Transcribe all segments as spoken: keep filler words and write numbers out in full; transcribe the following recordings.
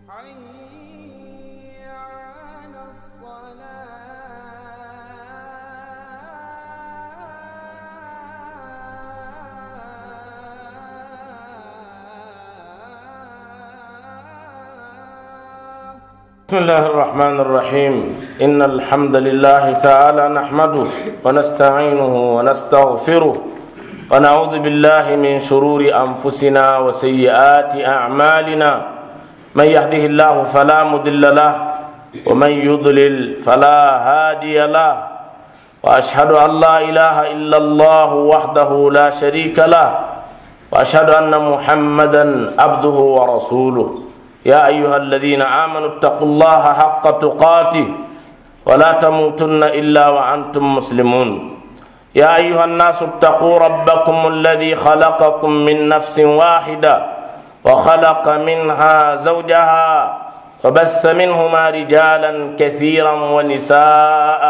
حي على الصلاة. بسم الله الرحمن الرحيم. إن الحمد لله تعالى نحمده ونستعينه ونستغفره، ونعوذ بالله من شرور أنفسنا وسيئات أعمالنا. من يهده الله فلا مضل له، ومن يضلل فلا هادي له، وأشهد أن لا إله إلا الله وحده لا شريك له، وأشهد أن محمدا عبده ورسوله. يا أيها الذين آمنوا اتقوا الله حق تقاته ولا تموتن إلا وأنتم مسلمون. يا أيها الناس اتقوا ربكم الذي خلقكم من نفس واحدة وخلق منها زوجها وبث منهما رجالا كثيرا ونساء،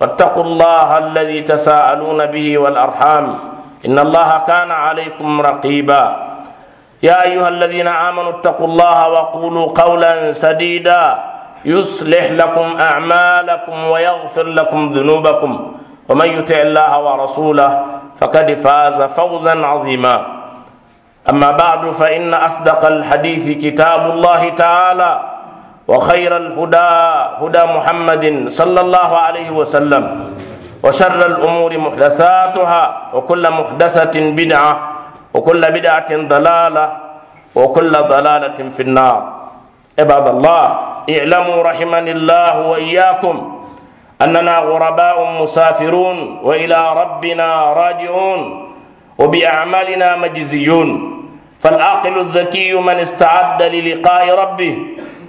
واتقوا الله الذي تساءلون به والأرحام، إن الله كان عليكم رقيبا. يا أيها الذين آمنوا اتقوا الله وقولوا قولا سديدا يصلح لكم أعمالكم ويغفر لكم ذنوبكم، ومن يطع الله ورسوله فقد فاز فوزا عظيما. أما بعد، فإن أصدق الحديث كتاب الله تعالى، وخير الهدى هدى محمد صلى الله عليه وسلم، وشر الأمور محدثاتها، وكل محدثة بدعة، وكل بدعة ضلالة، وكل ضلالة في النار. عباد الله، اعلموا رحمني الله وإياكم أننا غرباء مسافرون وإلى ربنا راجعون، وبأعمالنا مجزيون. فالعاقل الذكي من استعد للقاء ربه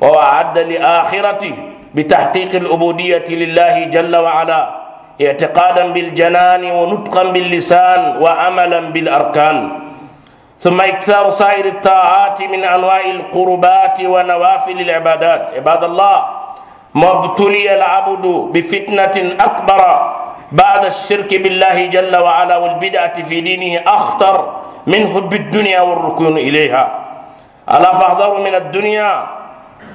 وأعد لآخرته بتحقيق العبودية لله جل وعلا، اعتقادا بالجنان ونطقا باللسان وعملا بالأركان. ثم إكثار سائر الطاعات من أنواع القربات ونوافل العبادات. عباد الله، ما ابتلي العبد بفتنة أكبر بعد الشرك بالله جل وعلا والبدعة في دينه أخطر من حب الدنيا والركون إليها. ألا فاحذروا من الدنيا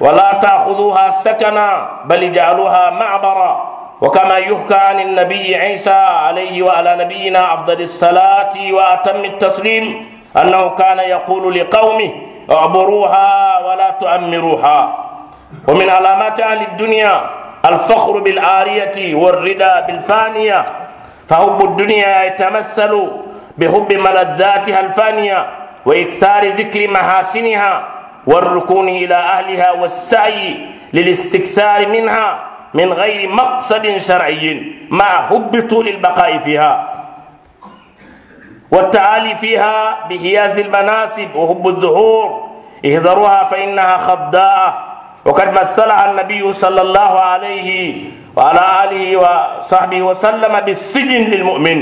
ولا تأخذوها سكنا، بل اجعلوها معبرا. وكما يحكى عن النبي عيسى عليه وعلى نبينا أفضل الصلاة وأتم التسليم أنه كان يقول لقومه: اعبروها ولا تعمروها. ومن علامات أهل الدنيا الفخر بالعارية والرضا بالفانية، فحب الدنيا يتمثل بحب ملذاتها الفانية وإكثار ذكر محاسنها والركون إلى أهلها والسعي للاستكثار منها من غير مقصد شرعي مع حب طول البقاء فيها والتعالي فيها بحياز المناصب وحب الظهور. احذروها فإنها خداعة. وقد مثلها النبي صلى الله عليه وعلى آله وصحبه وسلم بالسجن للمؤمن،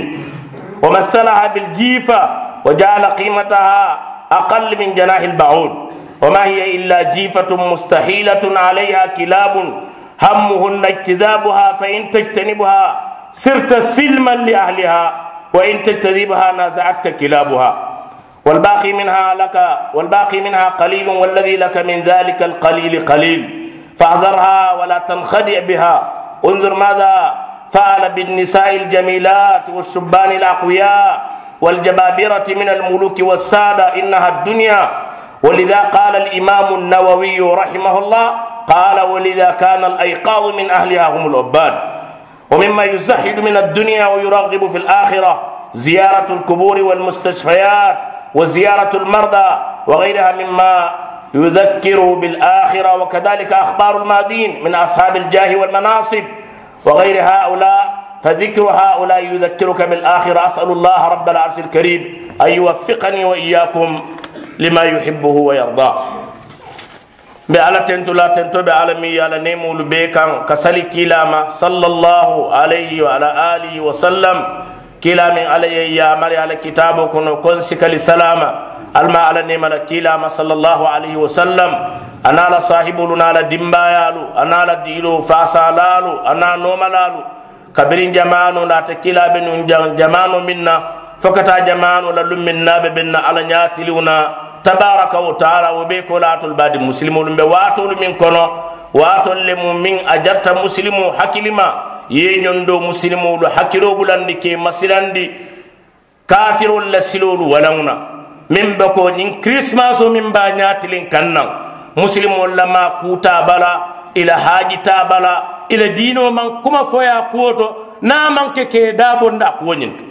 ومثلها بالجيفة، وجعل قيمتها أقل من جناح البعوض، وما هي إلا جيفة مستحيلة عليها كلاب همهن اجتذابها، فإن تجتنبها صرت سلما لأهلها، وإن تجتذبها نازعتك كلابها. والباقي منها لك، والباقي منها قليل، والذي لك من ذلك القليل قليل، فاحذرها ولا تنخدع بها. انظر ماذا فعل بالنساء الجميلات والشبان الأقوياء والجبابرة من الملوك والسادة، إنها الدنيا. ولذا قال الإمام النووي رحمه الله، قال: ولذا كان الأيقاظ من أهلها هم العباد. ومما يزهد من الدنيا ويرغب في الآخرة زيارة القبور والمستشفيات وزيارة المرضى وغيرها مما يذكر بالآخرة، وكذلك أخبار الماضين من أصحاب الجاه والمناصب وغير هؤلاء، فذكر هؤلاء يذكرك بالآخرة. أسأل الله رب العرش الكريم أن يوفقني وإياكم لما يحبه ويرضاه. Mbe Alla tentu la, tento be Alla meŋ ye a la neemoolu bee kaŋ, ka sali kiilaa ma, sallallahu alayhi wa ala alihi wa sallam. Kiilaa meŋ Alla ye yaamari a la kitaaboo kono ko n si kali salaama. Ali ma Alla neema la kiilaa ma, sallallahu alayhi wa sallam, a niŋ a la saahiboolu niŋ a la dimbaayaalu, a niŋ a la diiloo faasaalaalu, a niŋ a noomalaalu, kabiriŋ jamaanoo naata, kiilaa be nuŋ jamaanoo meŋ na, fo ka taa jamaanoo la luŋ meŋ na, a be beŋ na Alla ñaatiliŋo na, Tabaaraka wa taala wo bee ko laatolu baadi musilimoolu be waatoolu meŋ kono, waatoolu le mu meŋ a jarata musilimoo hakilima ye ñondo musilimoo lu hakiloo bulandi ke masilandi kaafiroolu la siloolu walaŋo na. Meŋ be ko ñiŋ kirisimaasoo meŋ be a ñaatiliŋ kaŋ naŋ, musilimoolu la maa kuutaa bala, i la haajitaa bala, i la diinoo maŋ kuma fo ye a kuwo to, niŋ a maŋ ke ke ye daabondi a kuwo ñiŋ to.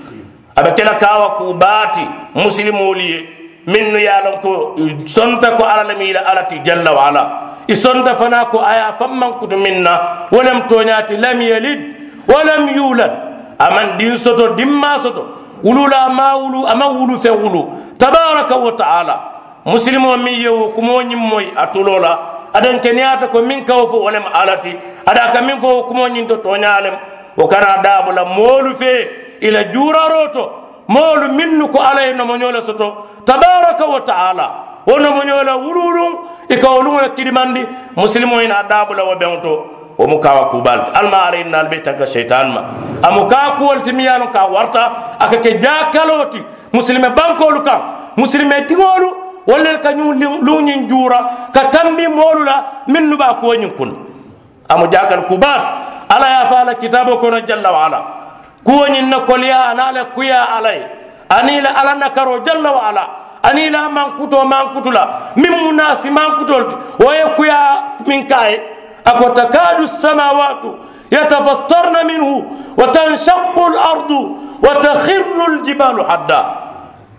A be ke la kaawa kuu baa ti musilimoolu ye, mennu ye a loŋ ko i sonta ko alla le mu i la alla ti jalla wa ala. I sonta fanaa ko a ye a faŋ maŋ kutu meŋ na, wo le mu tooñaa ti lam yalid wa lam yuulad. A maŋ diŋ soto dimmaa soto, wululaa maŋ a wulu, a maŋ wulu feŋ wulu. Tabaaraka wa taala, musilimoo meŋ ye wo kumoo ñiŋ moyi a tuloo la, a denkeneyaata ko meŋ ka wo fo wo le mu alla ti. A daa ka meŋ fo wo kumoo ñiŋ to tooñaa le mu. Wo kana daabu la moolu fee i la juuraroo to, moolu mennu ko alla ye nomoñoo le soto, tabaaraka wa taala, wo nomoñoo la wuluwuluŋ i ka wo luŋo le kidimandi. Musilimoo i naa daabu la wo beŋo to, wo mu kaawa kuu baa le ti. Alla maŋ alla ye naa ali be tanka seyitaani ma. A mu kaa kuwo le ti meŋ ye a loŋ ko a warata a ka ke jaakaloo ti musilime bankoolu kaŋ. Musilime diŋolu wolu le ka ñiŋ luŋ ñiŋ juura ka tambi moolu la mennu be a kuwo ñiŋ kunna. A mu jaakali kuu baa ti. Alla ye a fo a la kitaaboo kono jalla wa ala, kuwo ñiŋ na koleyaa a niŋ a la kuyaa alla ye, aniŋ i la alla nakaroo jalla wa ala, aniŋ i la a mankutoo mankutu la meŋ mu naasi mankutoolu ti, wo ye kuyaa meŋ ke a ye. A ko takaadu samawaatu yatafattarna minhu wa tanshaqu lardu wa takhirru ljibaalu hadda.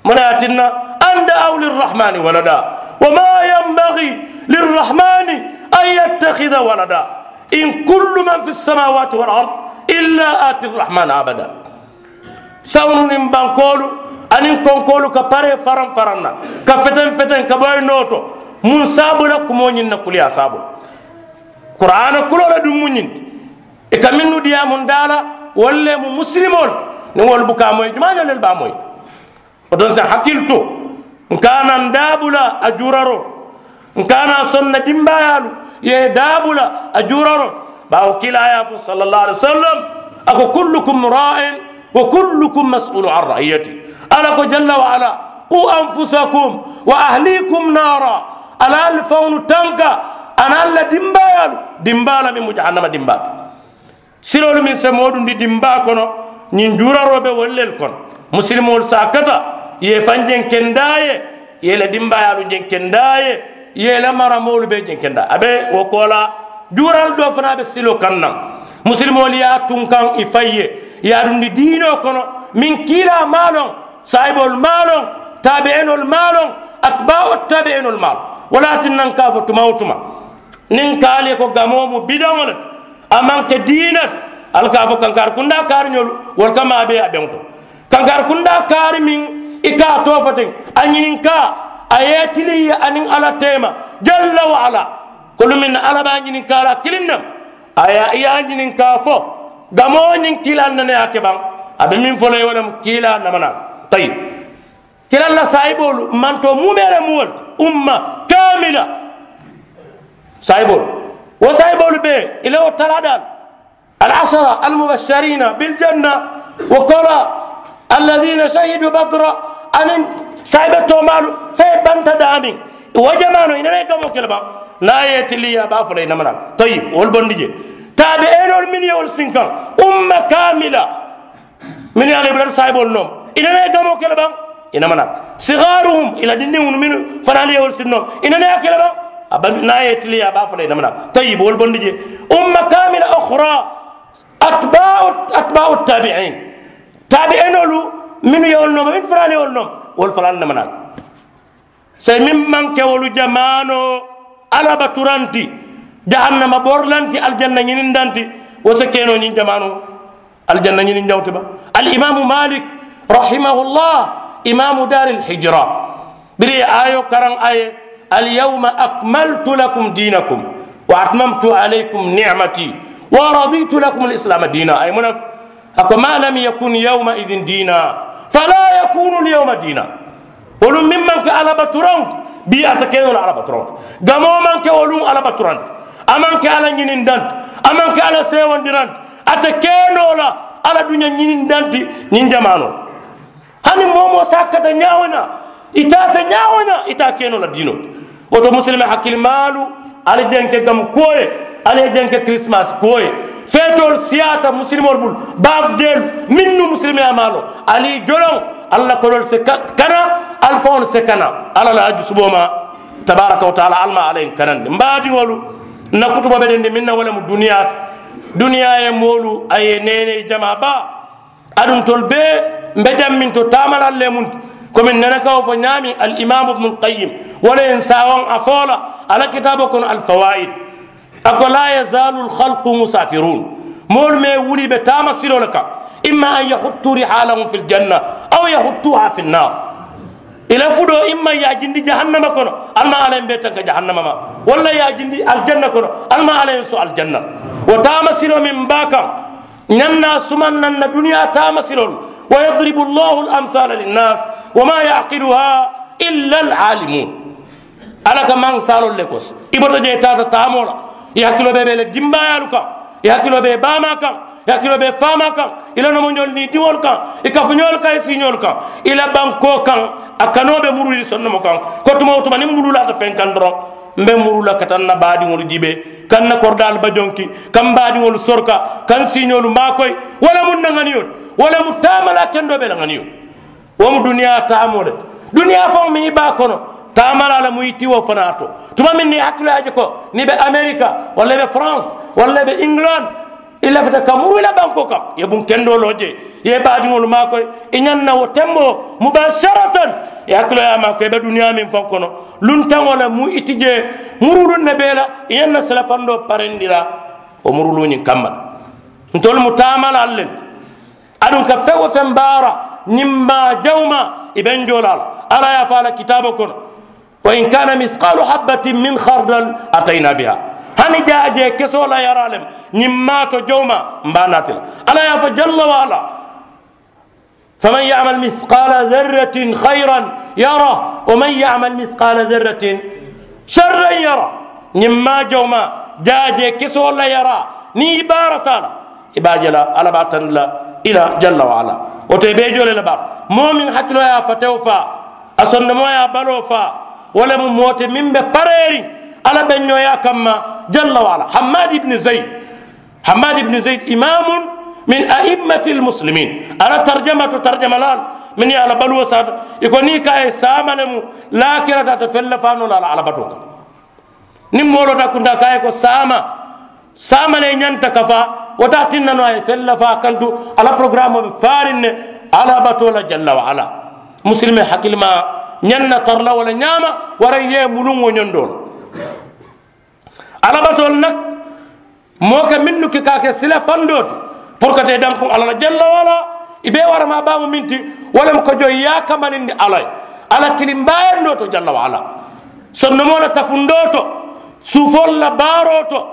Mu ne ye a tinna, an da'aw lirrahmani walada, wa ma yanbaghi lirrahmani an yattakhidha walada, in kullu man fi ssamawati wal ard illa ati rrahmani abada. Sawunu niŋ bankoolu aniŋ konkoolu ka paree faraŋ faraŋ na, ka feteŋ feteŋ ka boyi noo to. Muŋ saabu la kumoo ñiŋ na kuliyaa saabu la. Kuraana kuloo la duŋ mu ñiŋ ti. I ka mennu diyaamu n daa la, wolu le mu musilimoolu ti. Niŋ wolu buka a moyi jumaa ñoo lelu be a moyi. Wo to n si hakili to, n ka a naŋ daabula a juuraroo, n ka a naŋ sonna dimbaayaalu ye daabula a juuraroo. Baawo kiilaa ye a fo salla llahu alayhi wa sallam, a ko kullukum raa'in wa kullukum mas'ulu an ra'iyati. Alla ko jalla wa ala, ku anfusakum wa ahlikum naara. Alla ali faŋolu tanka a naŋ alla dimbaayaalu dimbaa la meŋ mu jahannama dimbaa ti. Siloolu meŋ se moo dundi dimbaa kono, ñiŋ juuraroo be wolu lelu kono. Musilimoolu se a kata i ye i faŋ jenkendaa ye, i ye i la dimbaayaalu jenkendaa ye, i ye i la maramoolu bee jenkendaa. A be wo koolaa juuraalu doo fanaa be siloo kaŋ naŋ. Musilimoolu ye a tunkaŋ i faŋ ye, i ye a dundi diinoo kono meŋ kiilaa maŋ a loŋ, saayiboolu maŋ a loŋ, taabi'inoolu maŋ a loŋ, atibaawu taabi'inoolu maŋ a loŋ. Wo le ye a tinna n ka a fo tuma wo tuma, niŋ ka ali ye ko gamoo mu bidaŋo le ti, a maŋ ke diina ti. Ali ka a fo kankaari kundaa kaariñolu wolu ka maabee a beŋo to. Kankaari kundaa kaari meŋ i ka a too fo teŋ, a ñininkaa a ye i tiliŋ ye aniŋ alla teema jalla wa ala. Kolu meŋ na alla be a ñininkaa la kiliŋ ne ma, a ye i ye a ñininkaa fo, gamoo ñiŋ kiilaa nene ye a ke baŋ? A be meŋ fo la i wo le mu kiilaa namanaa. Tayi. Kiilaa la saayiboolu mantoo muumee le mu wolu ti umma kaamila. Saayiboolu, wo saayiboolu bee i la wo talaa daalu, al asara al mubashariina bil janna, wo koolaa, alladiina shahidu badra, aniŋ saayibe toomaalu fee banta daamiŋ. Wo jamaanoo i nene ye gamoo ke le baŋ? Niŋ a ye i tiliŋ ye a be a fo la i namanaa. Tayi, wolu bondi jee. Taabi'inoolu mennu ye wolu sinkaŋ, umma kaamila, mennu ye a loŋ i bulata saayiboolu nooma, i nene ye gamoo ke le baŋ? I namanaa. Sigaaruhum, i la dindiŋolu mennu fanaalu ye wolu sinnooma, i nene ye a ke le baŋ? A ba niŋ a ye i tiliŋ ye a be a fo la i namanaa. Tayi, wolu bondi jee. Umma kaamila ukhra, atibaawu, atibaawu taabi'iin. Taabi'inoolu mennu ye wolu nooma, mennu fanaalu ye wolu nooma, wolu fanaalu namanaa. Saayiŋ meŋ maŋ ke wolu jamaanoo alla baturaŋ ti, jahannama borilaŋ ti, alijanna ñinindaŋ ti, wo si ke noo ñiŋ jamaanoo, alijanna ñininjaŋo ti ba? Alimaamu maalik, rahimahullah, imaamu daaril hijira, biriŋ i ye aayoo karaŋ a ye, alyawma akmaltu lakum diinakum wa atmamtu alaykum ni'mati wa raditu lakum alislaama diina. A ye muŋ ne fo? A ko, ma lam yakun yawma idin diina, fala yakunu lyawma diina. Wo luŋ meŋ maŋ ke alla baturaŋo ti, bii a te ke noo la alla baturaŋo ti. Gamoo maŋ ke wo luŋ alla baturaŋo ti. A maŋ ke alla ñinindaŋo ti. A maŋ ke alla seewondiraŋo ti. A te ke noo la alla duña ñinindaŋo ti ñiŋ jamaanoo. Hani moo-wo-moo si a kata ñaawo-ñaa, i taata ñaawo-ñaa, i taa ke noo la diinoo ti. Wo to musilime hakilimaalu, ali jenke gamu kuwo ye, ali ye jenke kirisimasi kuwo ye. Feetoolu siyaata musilimoolu bulu, baafudeelu, mennu musilimeyaa maa loŋ, ali joloŋ. Alla konoolu si kana, ali faŋolu si kana. Alla la a jusuboo ma tabaaraka wa taala, ali ma alla ye kanandi. M baadiŋolu, n na kutuba be dendi meŋ na wo le mu duniyaa ti. Duniyaa ye moolu a ye neenee jamaa baa. Aduŋ ntolu bee mbe jamminto taamalaalu le munti. Komi n nana ka wo fo ñaameŋ, alimaamu ibnul qayim wo le ye n saawaŋ a fo la a la kitaaboo kono alfawaayid. A ko laa yazaalu alxalqu musaafiruun. Moolu mee wuli be taama siloo le kaŋ. Imma an yahuttu rihaalahum fi ljanna, aw yahuttuha fi nnaar. I la fudoo imma i ye a jindi jahannama kono, ali ma alla ye mbe tanka jahannama ma. Walla i ye a jindi aljanna kono, ali ma alla ye so aljanna. Wo taama siloo meŋ baa kaŋ, ñaŋ na a sumaŋ naŋ na duniyaa taama siloolu. Wa yadribu allahu alamsaala linnaas, wa ma yaqiluha illa alalimun. Alla ka maŋ saaloolu le kosi. I bota jee taata taamoo la, i hakiloo be be le dimbaayaalu kaŋ, i hakiloo be baamaa kaŋ, i hakiloo be faamaa kaŋ, i la nomoñoolu niŋ i diŋolu kaŋ, i kafuñoolu kaŋ, i siiñoolu kaŋ, i la bankoo kaŋ. A kanoo be muruuri sondomo kaŋ. Ko tuma wo tuma niŋ mbuluu laata feŋ kaŋ doroŋ, mbe muruu la ka taa n na baadiŋolu jiibee, ka n na koridaalu bajonki, ka m baadiŋolu soroka, ka n siiñoolu maakoyi. Wo le mu n na ŋaniyo ti. Wo le mu taamalaa kendoo be la ŋaniyo ti. Wo mu duniyaa taamoo le ti. Duniyaa faŋo meŋ i be a kono, taamalaa le mu i ti wo fanaa to. Tuma meŋ niŋ i hakiloo ye a je ko niŋ i be amerika, walla i be faransi, walla i be ingiland, i lafita ka muru i la bankoo kaŋ, i ye buŋ kendoo loo jee, i ye i baadiŋolu maakoyi. I ñaŋ na wo temboo mubaasaratan, i hakiloo ye a maakoyi i be duniyaa meŋ faŋ kono, luntaŋo le mu i ti jee. Muruuluŋ ne be i la, i ñaŋ na silafandoo parendi la wo muruuluŋ ñiŋ kamma le. Ntolu mu taamalaalu le ti. Aduŋ ka feŋ wo feŋ baara, ñiŋ maa jawumaa i be n joo la a la. Alla ye a fo a la kitaaboo kono, wa in kaana misqaalu habbatin min xardal atayna biha. Hani jaajee kesoo la yaraa le mu ñiŋ maa to jawumaa, m be a naati la. Alla ye a fo jalla wa ala, faman yamal misqaala zarratin xayran yara, wa man yamal misqaala zarratin sarran yara. Ñiŋ maa jawumaa, jaajee kesoo la yaraa, niŋ i baarata a la, i be a je la, alla be a tandi la i la jalla wa ala. Wo to i be i joo le la baari, moo meŋ hakiloo ye a fatewo faa, a sondomoo ye a baloo faa, wo le mu moo ti meŋ be pareeriŋ alla be ñooyaa kamma jalla wa ala. Hammad ibni zayd, hammad ibni zayd imaamun min a'immati almuslimin. A la tarjama to tarjamalaalu mennu ye a la baluwo saata, i ko niŋ i ka a ye saama le mu laakira taata fella faanoo la a la alabatoo kaŋ. Niŋ moo loota kuntaa ka a ye ko saama, saama le ñanta ka faa, wo te a tinna noo a ye fella faa kantu. A la porogaramoo be faariŋ ne alabatoo la jalla wa ala. Musilime hakilimaa ñaŋ na tara la wo le ñaama, waraŋ i ye i muluŋ wo ñondoo la. Alabatoolu nak moo ka mennu ke ka a ke sila fandoo ti, puru ka te dankuŋ alla la jalla wa ala. I be waramaa baamu meŋ ti, wo le mu ka joŋ i ye a kamanindi alla ye, alla kilimbaayandoo to jalla wa ala. Sondomoo la tafundoo to, suufoolu la baaroo to,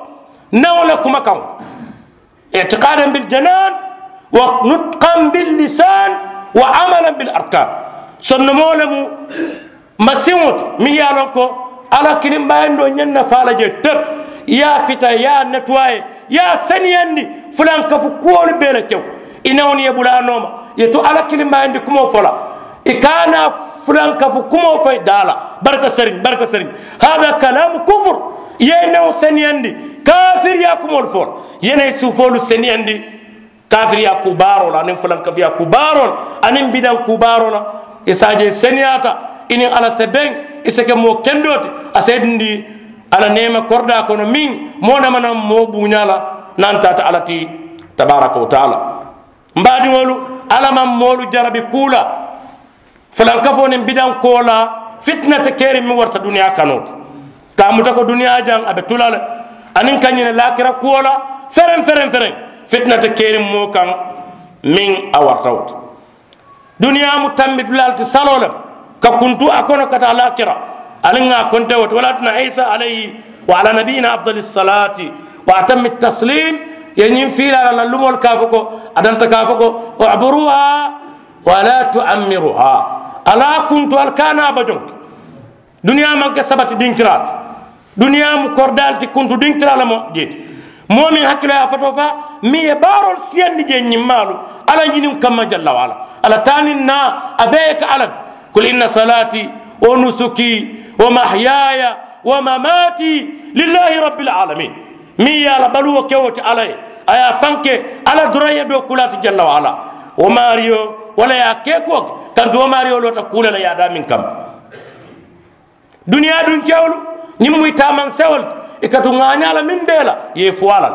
naŋo la kumakaŋo, itikadan bil janaan, wa nutkan bil lisaan, wa amalan bil arkaan. Sondomoo le mu masiŋo ti meŋ ye a loŋ ko alla kilimbaayandoo ñaŋ na faa la jee tep, i ye a fita i ye a netuwaaye, i ye a seniyandi fulankafu kuwolu bee le kew. I newnu ye bula a nooma, i ye to alla kilimbaayandi kumoo fo la, i ka a naa fulankafu kumoo fo i daa la. Barika seriŋ, barika seriŋ. Hada kalaamu kufur. I ye i newo seniyandi kaafiriyaa kumoolu fo la, i ye naa i suufoolu seniyandi kaafiriyaa kuu baaroo la aniŋ fulankafuyaa kuu baaroo la aniŋ bidaŋ kuu baaroo la. I se a je i seniyaata, i niŋ alla se beŋ, i se ke moo kendoo ti. A se i dindi alla neema koridaa kono meŋ moo nama naŋ moo buuñaa la, naŋ taata alla ti tabaaraka wa taala. M baadiŋolu, alla maŋ moolu jarabi kuu la fulankafoo niŋ bidaŋ koo la, fitina te keriŋ meŋ warata duniyaa kanoo ti. Ka a muta ko duniyaa jaŋ a be tu la le, aniŋ ka ñini laakira kuwo la fereŋ fereŋ fereŋ, fitina te keriŋ moo kaŋ meŋ a warata wo ti. Duniyaa mu tambi dulaa le ti saloo le, ka kuntu a kono ka taa laakira. Ali ŋà a konte wo ti wala a tinna isa alayhi wa ala nabiyina afdali salaati wa atami taslim, ye ñiŋ fiilaa la lumoolu ka a fo ko, a danta ka a fo ko, uburuha wala tuammiruha. Ali a kuntu, ali ka a naa bajonki. Duniyaa maŋ ke sabati dinkiraa ti. Duniyaa mu koridaa le ti, kuntu dinkiraa le mu jee ti. Moo meŋ hakkiloo ye a fatoo faa meŋ ye baaroolu siyandi jee ñiŋ maalu alla ñiniŋ kamma jalla wa alla. Alla taaniŋ naa a bee ye ka alla. Kul inna salaati wa nusuki wa mahyaaya wa mamaati lillahi rabbil alamin. Meŋ ye a la baluwo ke wo ti alla ye a ye a fanke alla doroŋ ye doo kulaati jalla wa alla. Wo maariyo walla ye a ke kuwo ke kantu wo maariyo loota kuule la ye a daa meŋ kamma. Duniyaa dunkewolu ñiŋ mu i taamaŋ sewolu i ka tu ŋaañaa la meŋ bee la i ye i fo a la.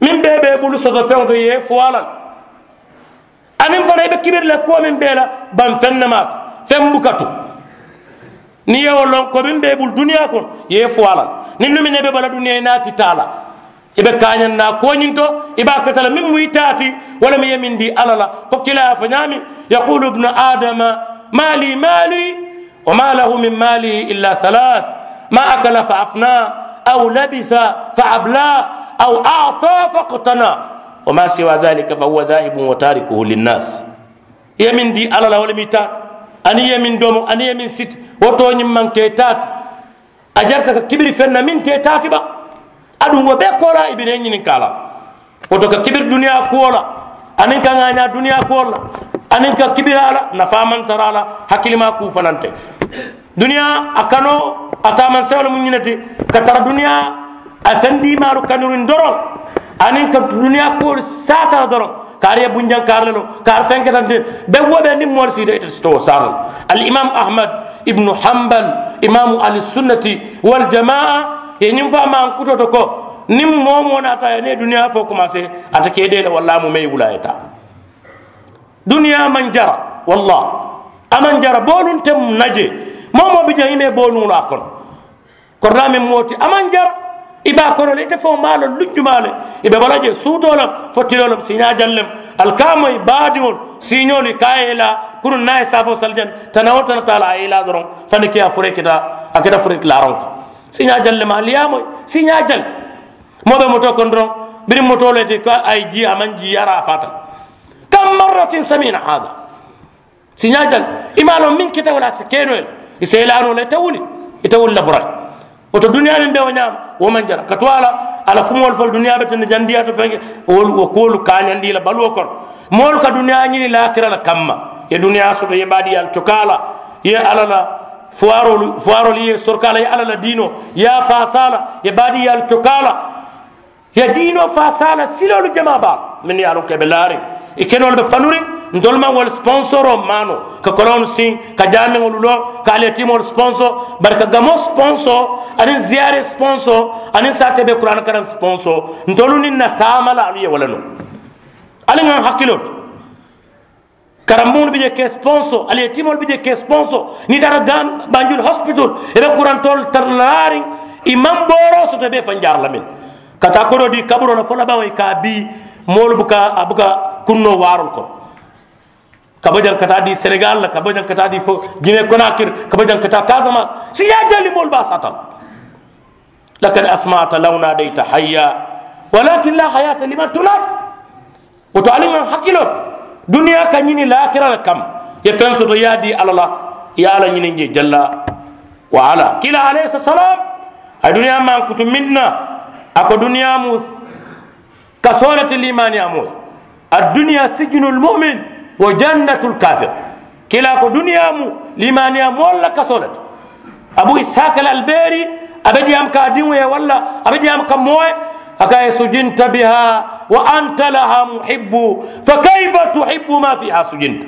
Meŋ bee be i bulu soto feŋo to i ye i fo a la. Aniŋ fanaŋ i be kibiri la kuwo meŋ bee la baŋ feŋ ne maata feŋ buka tu. Niŋ i ye wo loŋ ko meŋ be i bulu duniyaa kono i ye i fo a la. Niŋ nuŋ meŋ ne i be bala duniyaa i naati taa la i be kaañaŋ naa kuwo ñiŋ to. I be a kata la meŋ mu i taa ti wo le mu i ye meŋ dii alla la. Ko kiilaa ye a fo ñaameŋ yaqulu ibnu adama mali mali. Wa ma lahu min malihi illa salaas ma akala fa afnaa aw labisa fa ablaa aw ata fa qtanaa wa ma siwa dalika fa huwa dahibun wa tarikuhu linnaas. I ye meŋ dii alla la wo le mu i taa ti aniŋ i ye meŋ domo aniŋ i ye meŋ siti wo too ñiŋ maŋ ke i taa ti. A jarata ka kibiri feŋ na meŋ te i taa ti ba. Aduŋ wo bee koolaa i bi ne ñininkaa la. Wo to ka kibiri duniyaa kuwo la aniŋ ka ŋaañaa duniyaa kuwo la aniŋ ka kibiri a la nafaa maŋ tara a la. Hakkilimaa kuu fanante duniyaa a kanoo a taamaŋ sewo le mu ñiŋ ne ti ka tara duniyaa a fendiimaalu kanuriŋ doroŋ aniŋ ka duniyaa kuwolu saata la doroŋ. Kaari ye bunjaŋ kaari le loŋ kaari feŋ ketante be wo be niŋ moolu siita ite sito wo saata la. Alimaamu ahmad ibnu hambal imaamu alisunnati waljamaa ye ñiŋ fo a maŋ kutoo to ko niŋ moo moo naata ye niŋ ye duniyaa fo komaasee ate ke dee le walla a mu meŋ ye wulaa ye taa. Duniyaa maŋ jara walla a maŋ jara booluŋ te mu na jee. Moo moo bi jaŋ i mee booluŋolu a kono. Koronaa meŋ moo ti a maŋ jara i be a kono le ite faŋo maa loŋ luŋ jumaa le. I be bo la jee suutoo le fo tiloo le siiñaa jaŋ le. Ali ka a moyi baadiŋolu siiñoolu i ka a ye i laa kunuŋ niŋ a ye saafoo sali jaŋ tana wo tana taa la a ye i laa doroŋ. Fani ke a furee keta a keta furee ti laaraŋo kaŋ. Siiñaa jaŋ le maa ali ye a moyi siiñaa jaŋ. Moo be motoo kono doroŋ biriŋ motoo le ti ko a ye jii a maŋ jii yaara a faata. Kam marratin samina hada. Siiñaa jaŋ i maŋ a loŋ meŋ keta wo le a si ke noo ye le. I si i laa noo le ite wuli ite wuli la buraŋ. Wo to duniyaa meŋ be wo ñaama wo maŋ jara ka tu a la. A la kumoolu folu duniyaa be tende jandiyaa to feŋ ke wolu wo kuwolu kaañandi i la baluwo kono. Moolu ka duniyaa ñini laakira la kamma i ye duniyaa soto i ye baadiyaalu cokaa la i ye alla la fuwaaroolu fuwaaroolu i ye sorokaa la i ye alla la diinoo i ye a faasaa la i ye baadiyaalu cokaa la. Ye diinoo faa saala siloolu jamaa baa mennu ye a loŋ ko i be laariŋ i kenoolu be fanuriŋ. Ntolu maŋ wolu siponsoroo maanoo ka koloŋolu siŋ ka jaameŋolu loŋ ka aliyetiimoolu siponso bari ka gamoo siponso aniŋ ziyaaree siponso aniŋ saatee be kuraana karaŋ siponso. Ntolu niŋ na taama la alu ye wo le nuŋ. Ali ŋa n hakkiloo to karambuŋolu bi je ke siponso ali ye timoolu bi je ke siponso niŋ i taata gan banjul hospital i be kurantoolu tara laariŋ. I maŋ booroo soto i be i fanjaari la meŋ ka taa kodoo dii kaburoo la fo labaŋo i ka a bii moolu buka a buka kunnoo waaroolu kono. Ka bo jaŋ ka taa dii senegal la ka bo jaŋ ka taa dii fo jine konakir ka bo jaŋ ka taa kasamans. Siiñaa jali moolu be a saata la. Lakad asmata law nadayta hayya walakin la hayata liman tunad. Wo to ali ŋa hakkiloo duniyaa ka ñini laakira le kam ye feŋ soto ye a dii alla la ye alla ñiniŋ je jalla wa alla kiila alayhi salaam. A ye duniyaa maŋ kutu meŋ na a ko duniyaa mu kasoo le ti liimaaniyaa moo ye. Adduniyaa sijinu lmumin wa jannatu lkafir. Kiila ko duniyaa mu liimaaniyaa moolu la kasoo le ti. Abu isihaka al albeeri a be diyaamu ka a diŋo ye walla a be diyaamu ka moo ye. A ka ye sujinta biha wa anta laha muhibbu fa kayfa tuhibbu ma fiha sujinta.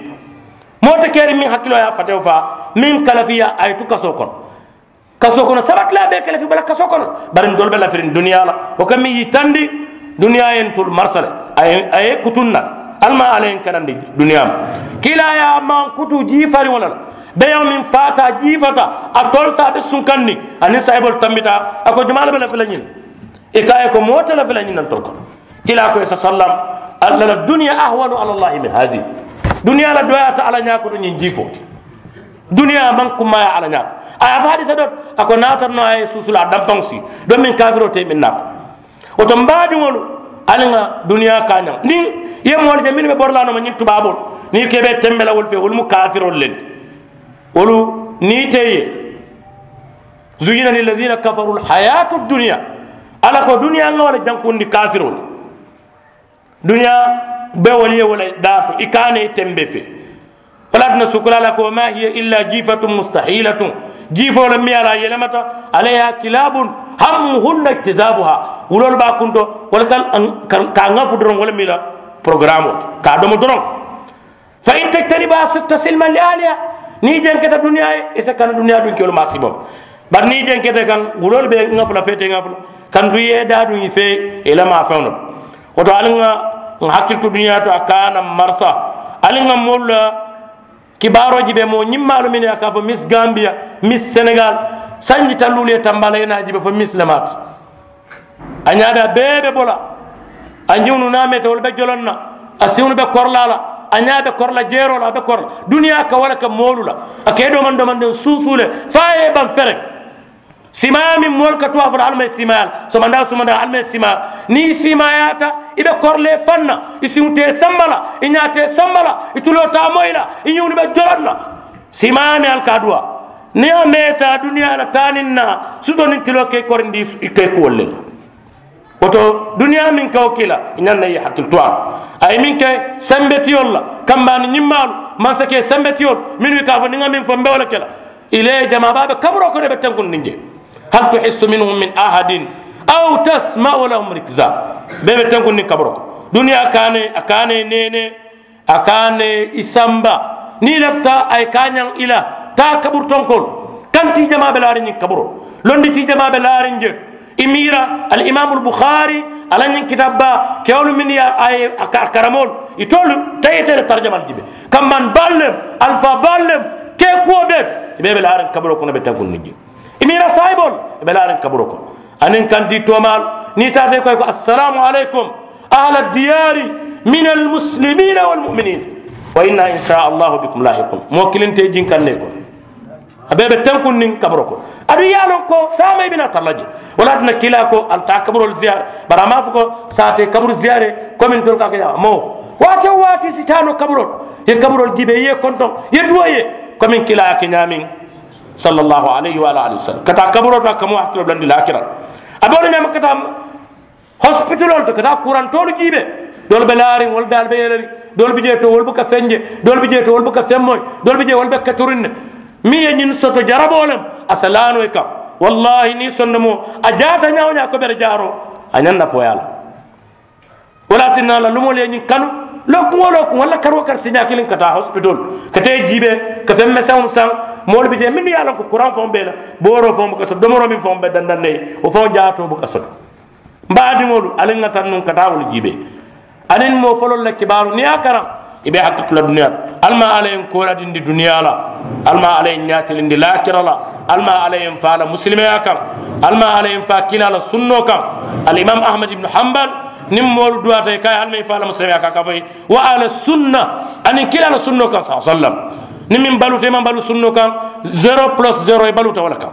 Moo te keeriŋ meŋ hakkiloo ye a fatewo faa meŋ kalafiya a ye tu kasoo kono. Kasoo kono sabatilaa bee kalafi bala kasoo kono. Bari ntolu be lafiriŋ duniyaa la wo ka meŋ yitandi duniyaa ye ntolu marsa le. A ye kutunna ali maŋ alla ye n kanandi duniyaa ma. Kiilaa ye a maŋ kutu jii fariŋo le la beyaŋo meŋ faata jii fata a tolta a be sunkandiŋ aniŋ saayiboolu tambita a ko jumaa le be lafi la ñiŋ. I ka a ye ko moo te lafi la ñiŋ na ntolu kono. Kiilaa ko ye sa sallam alla la duniya ahwanu ala allahi min hadihi. Duniyaa la doyaata alla ñaa koto ñiŋ jii fo ti. Duniyaa maŋ kummaaya alla ñaa a ye a fo hadisa dot a ko naata noo a ye suusula a dampaŋo sii. Domiŋ kafiroo te meŋ naa ko wo to mbaadiŋolu ali ŋa duniyaa kaañaŋ niŋ i ye moolu je mennu be bori la a nooma ñiŋ tubaaboolu niŋ i ke be tembe la wolu fee wolu mu kafiroolu le ti. Wolu niŋ i te ye zuyina lilladina kafaru lhayatu dduniya Alla ko duniyaa ŋa wo le jankundi kafiroo le. Duniyaa be wolu ye wo le daato i ka a ne i tembe fee. Wo le ye a tinna sukulaa la ko wa maa hiya illa jiifatun mustahiilatun. Jiifoo le miŋ ye a la a yelemata alayha kilaabun hammuhunna ijtizaabuha. Wuloolu be a kunto wo le ka a ŋafu doroŋ wo le miŋ la porogaramoo ti ka a domo doroŋ. Fa in tajtanibuha tasil man li ahliha. Niŋ i jenketa duniyaa ye i si kana duniyaa duŋ ke wolu maasiibo. Bari niŋ i jenketa kaŋ wuloolu be ŋafu la fee te ŋafu la kantu i ye i daa duŋ i fee i la maafeŋo le. Wo to ali ŋa ŋa hakkili tu duniyaa to a ka a na marasa. Ali ŋa moolu la kibaaroo jibe moo ñimmaalu minnu ye a ka a fo miss gambiya, miss senegal, sanji talluulu ye tambaa la i ye naa jibe fo miss le maati. A ñaadaa bee be bo la. A ñiŋ nu naamee te wolu be joloŋ na. A siŋolu be kori la a la. A ñaa be kori la jeeroo la a be kori la. Duniyaa ka wo le ke moolu la. A ka i domandomandiŋ suusuu le fo a ye i baŋ fereŋ. Siimaayaa meŋ moolu ka tuwaa fo la ali maŋ i siimaayaa la sumandaa sumandaa ali maŋ i siimaayaa la. Niŋ i siimaayaata i be kori le i faŋ na. I siŋo te i samba la. I ñaa te i samba la. I tuloo te a moyi la. I ñiŋolu be joloŋ na. Siimaayaa meŋ ali ka a duwaa niŋ a meeta duniyaa la taa niŋ naa sutoo niŋ tiloo ka i korindi i ka i kuwolu le la. Wo to duniyaa meŋ ka wo kii la i ñaŋ na i ye hakkili tu a la. A ye meŋ ke sembetiyolu la kambaani ñimmaalu maŋ si ke sembetiyolu mennu i ka a fo niŋ ŋa meŋ fo mbe wo le ke la. I le jamaa baa be kaburoo kono i be tenkundiŋ jee. Hal tuhissu minhum min ahadin aw tasma'u lahum rikza. Bee be tenkundiŋ kaburoo kono duniyaa kaane a kaane neenee. A ka a ne i samba niŋ i lafita a ye kaañaŋ i la taa kaburu tonkoolu. Kantii jamaa be laariŋ ñiŋ kaburoo londi tii jamaa be laariŋ je. I miira alimaamu albuxaari a la ñiŋ kitaabu baa kewolu minnu ye a ye a karamoolu itoolu tayite le tarjamalu jibe kamban baalu lem alifaa baalu lem kee kuwo bee i bee be laariŋ kaburoo kono be tenkundiŋ je. I miira saayiboolu i be laariŋ kaburoo kono. Aniŋ kantii toomaalu niŋ i taata i ko a ye ko assalaamu aleykum ahla diyaari min almuslimina walmuminin wa inna in sha allahu bikum lahiqun. Moo kiliŋ te i jinkaŋ ne i kono. A bee be tenkundiŋ kaburoo kono. Aduŋ i ye a loŋ ko saama i bi naa tara la je. Wo le ye a tinna kiilaa ko ali taa kaburoolu ziyaari bari a maŋ a fo ko saa te kaburu ziyaari komi ntolu ka a ke ñaama moo waati wo waati i si taa noo kaburoolu i ye kaburoolu jiibee i ye i kontoŋ i ye duwoo i ye komi kiilaa ye a ke ñaameŋ. Sallallahu alayhi wa alihi wa sallam ka taa kaburoo to a ka moo hakiloo bulandi laakira. A be wo le ñaama ka taa hosipitaloolu to ka taa kurantoolu jiibee. Doolu be laariŋ wolu daalu be yeleriŋ. Doolu bi jee to wolu buka feŋ je. Doolu bi jee to wolu buka feŋ moyi. Doolu bi jee wolu be katuriŋ ne. Meŋ ye ñiŋ soto jaraboo lem a si laanoo i kaŋ. Wallaahi niŋ i sondomoo a jaata ñaa-wo-ñaa ko bere jaaroo a ñaŋ na fooyaa la. Wo le ye a tinna a la lumoolu ye ñiŋ kanu lookuŋ-wo-lookuŋ walla kari-wo-kari siiñaa kiliŋ ka taa hosipitoolu ka taa i jiibee ka feŋ meseŋo saŋ. Moolu bi jee mennu ye a loŋ ko kuraŋ faŋo be i la booroo faŋo buka soto domoroo meŋ faŋo be dandaŋ na i ye wo faŋo jaatoo buka soto. M baadiŋolu ali ŋa taŋ nuŋ ka taa wolu jiibee. Aniŋ moo foloolu la kibaaru niŋ i ye a karaŋ i be hakki tu la duniyaa la. Ali maŋ alla ye n kooladindi duniyaa la. Ali maŋ alla ye n ñaatilindi laakira la. Ali maŋ alla ye n faa la musilimeyaa kaŋ. Ali maŋ alla ye n faa kiilaa la sunnoo kaŋ. Alimaamu ahamadu ibunu hambal niŋ moolu duwaata i ka a ye ali maŋ i faa la musilimeyaa kaŋ a ka a fo i ye wa ala sunna. Aniŋ kiilaa la sunnoo kaŋ saa sallam. Niŋ meŋ baluuta i maŋ baluu sunnoo kaŋ zero polosi zero i baluuta wo le kaŋ.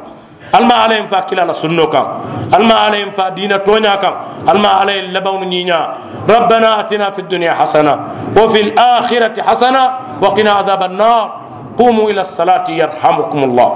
Ali maŋ alla ye n faa kiilaa la sunnoo kaŋ. Ali maŋ alla ye n faa diina tooñaa kaŋ. Ali maŋ alla ye n labaŋolu ñiiñaa. Rabbana atina fi duniya hasana wa fi l akhirati hasana wa qina adaba annar. Qumu ila salati yarhamukumullah.